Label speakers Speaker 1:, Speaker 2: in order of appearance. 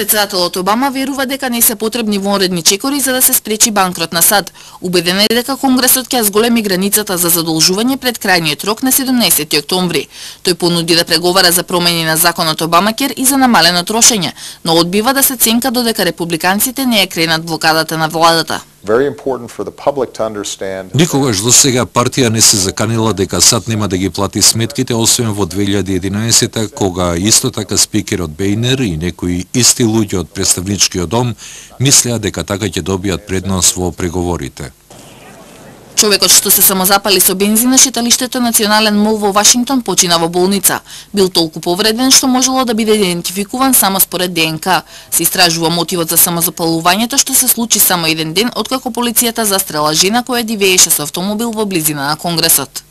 Speaker 1: Председателот Обама верува дека не се потребни вонредни чекори за да се спречи банкрот на САД. Убеден е дека Конгресот ќе зголеми границата за задолжување пред крајниот рок на 17 октомври. Тој понуди да преговара за промени на законот Обамакер и за намалено трошење, но одбива да се ценка додека републиканците не ја кренат блокадата на владата.
Speaker 2: Никогаш до сега партија не се заканила дека САД нема да ги плати сметките, освен во 2011 кога исто така спикерот Бейнер и некои исти луѓе од представничкиот дом мислеа дека така ќе добијат предност во преговорите.
Speaker 1: Човекот што се самозапали со бензин на шеталиштето Национален мол во Вашингтон почина во болница. Бил толку повреден што можело да биде идентификуван само според ДНК. Се истражува мотивот за самозапалувањето што се случи само еден ден откако полицијата застрела жена која дивееше со автомобил во близина на Конгресот.